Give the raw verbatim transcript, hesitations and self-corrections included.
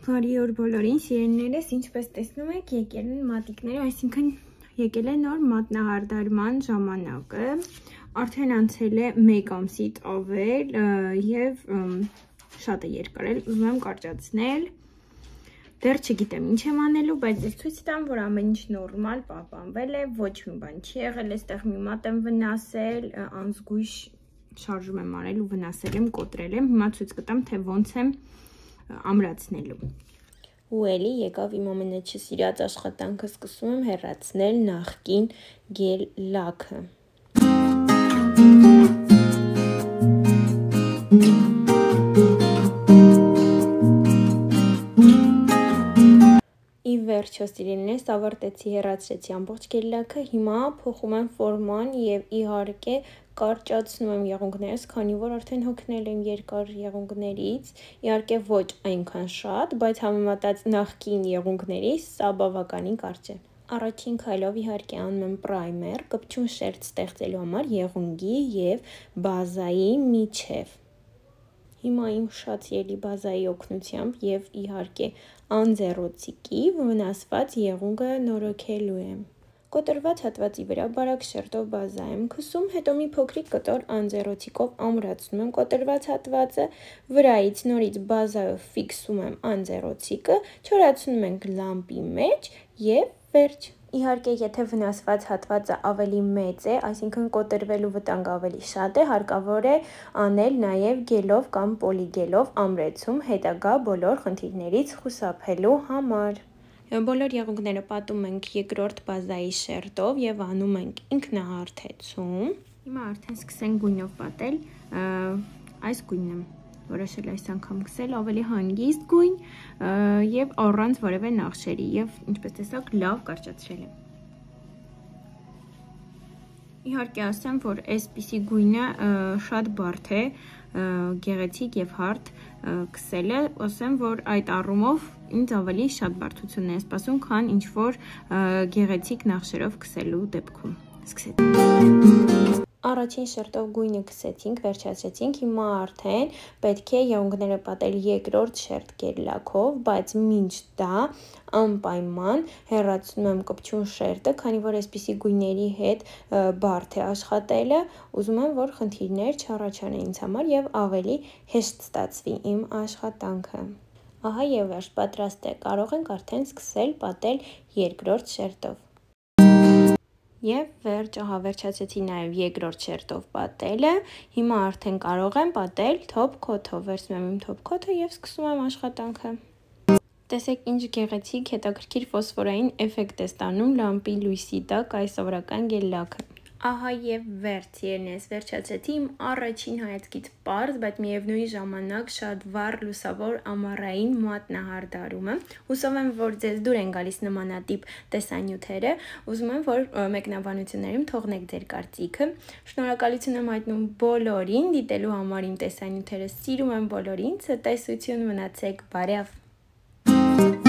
Բարի օր բոլորին, սիրելիներս, ինչպես տեսնում եք, եկել են մատիկները, այսինքն եկել է նոր մատնահարդարման ժամանակը, արդեն անցել է մեկ ամսից ավել եւ շատ է երկարել, ուզում եմ կարճացնել, դեռ չգիտեմ ինչ եմ անելու, բայց ես ցույց տամ, որ ամեն ինչ նորմալ պահպանվել է, ոչ մի բան չի եղել, այստեղ մի մատ եմ վնասել, անզգույշ շարժում եմ արել ու վնասել եմ, կոտրել եմ, հիմա ցույց կտամ, թե ոնց եմ ամրացնելու։ Ու էլի եկավ իմ ամենաչսիրած աշխատանքը, սկսում եմ հեռացնել նախկին գել լաքը։ Ի վերջո սիրելիներս, ավարտեցի, հեռացրեցի ամբողջ գել լաքը, հիմա փոխում եմ ֆորման եւ իհարկե կարճացնում եմ եղունգներս, քանի որ արդեն հոգնել եմ երկար եղունգներից, իհարկե ոչ այնքան շատ, բայց համեմատած նախկին եղունգներից սա բավականին կարճ է։ Առաջին քայլով իհարկե անում եմ պրայմեր, կպչուն շերտ ստեղծելու համար եղունգի եւ բազայի միջև։ Հիմա իմ շատ սիրելի բազայի օգնությամբ եւ իհարկե անձեռոցիկի վնասված եղունգը նորոգելու եմ։ Կոտրված հատվածի վրա բարակ շերտով բազա եմ քսում, հետո մի փոքրիկ կտոր անձեռոցիկով ամրացնում եմ կոտրված հատվածը, վրայից նորից բազայով ֆիքսում եմ անձեռոցիկը, չորացնում ենք լամպի մեջ եւ վերջ։ Իհարկե, եթե վնասված հատվածը ավելի մեծ է, այսինքն կոտրվելու վտանգը ավելի շատ է, հարկավոր է անել նաև գելով կամ պոլիգելով ամրեցում հետագա բոլոր խնդիրներից խուսափելու համար։ Բոլոր եղունգները պատում ենք երկրորդ բազայի շերտով եւ անում ենք ինքնահարթեցում։ Հիմա արդեն սկսենք գույնով պատել, այս գույնն եմ որոշել այս անգամ գցել, ավելի հանգիստ գույն եւ առանց որևէ նախշերի եւ ինչպես տեսակ լավ կարճացրել եմ։ Իհարկե ասեմ, որ այսպիսի գույնը շատ բարդ է, գեղեցիկ եւ հարթ քսելը, ասեմ, որ այդ առումով ինձ ավելի շատ բարդություն է սպասում, քան ինչ որ գեղեցիկ նախշերով քսելու դեպքում։ Սկսեցինք։ Առաջին շերտով գույնը քսեցինք, վերջացրեցինք, հիմա արդեն պետք է եղունգները պատել երկրորդ շերտ գել լաքով, բայց մինչ դա անպայման հեռացնում եմ կպչուն շերտը, քանի որ այսպիսի գույների հետ բարդ է աշխատելը, ուզում եմ, որ խնդիրներ չառաջանան ինձ համար եւ ավելի հեշտ ստացվի իմ աշխատանքը։ Ահա եւ վերջ պատրաստ է, կարող ենք արդեն սկսել պատել երկրորդ շերտով։ Եվ վերջ, ահա վերջացեցի նաև երկրորդ շերտով պատելը, հիմա արդեն կարող եմ պատել թոփ քոթով, վերցնում եմ իմ թոփ քոթը եւ սկսում եմ աշխատանքը։ Տեսեք ինչ գեղեցիկ հետաքրքիր ֆոսֆորային էֆեկտ է ստանում լամպի լույսի տակ այս սովորական գել լաքը։ Ահա եւ վերջ, սիրելիներս, վերջացրեցի իմ առաջին հայացքից պարզ, բայց միևնույն ժամանակ շատ վառ լուսավոր ամառային մատնահարդարումը։ Հուսով եմ, որ ձեզ դուր են գալիս նմանատիպ տեսանյութերը, ուզում եմ, որ մեկնաբանություններում թողնեք ձեր կարծիքը։ Շնորհակալություն եմ հայտնում բոլորին դիտելու համար իմ տեսանյութերը, սիրում եմ բոլորին, ցտեսություն, մնացեք բարև։